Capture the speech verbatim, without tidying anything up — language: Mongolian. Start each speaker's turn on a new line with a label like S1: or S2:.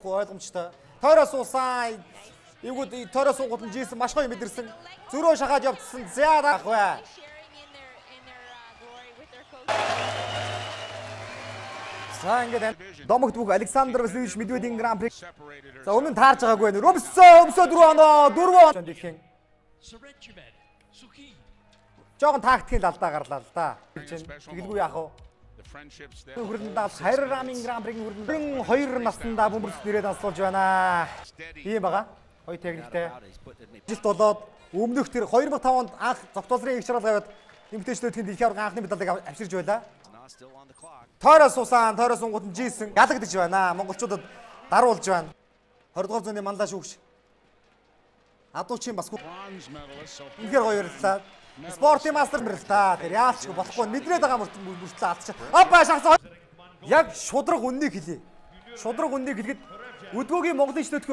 S1: Ойлгомжтой. Тойроо суусан. Эвгүүд тойроо суугууд нь жийсэн маш гоё мэдэрсэн. Зөрөө шахаад явцсан. За даах бай. За ингээд домогт бүх Александр Васильевич Медведевийн гран при. За өмнө нь таарж байгаагүй байна. Өмсөө өмсөө дөрөв оноо дөрөв он дэлхийн. Жохон тактикийн алдаа гарлаа л да. Тэгэлгүй яах вэ? Хүрдэндээ хайр рамын гран пригийн хүрдэнд хоёр наснда бөмбөрөлт нэрээд асуулж байна. Ийм байгаа. Хоёр техниктэй. Жилт болоод өмнөх тэр хоёр мянга тавд анх зогтолрын их чаргал гавьад эмгтээчдүүд тэнд дэлхийн аврагын анхны медалыг авчирж байлаа. Тойроо суусан, тойроо сунгууд нь жийсэн. Ялагдаж байна. Монголчуудад даруулж байна. двадцать дугаар зууны манлаа шүүгч. Адуучин бас үнэхээр гоё ярьлаа. Спортын мастер мэрэлтаа. Тэр яалч болохгүй мэдрээд байгаа мөртлөө алдчих. Апа шахсан. Яг шудраг үннийг хэлье. Шудраг үннийг хэлгээд өдгөөгийн Монголын чөлөөт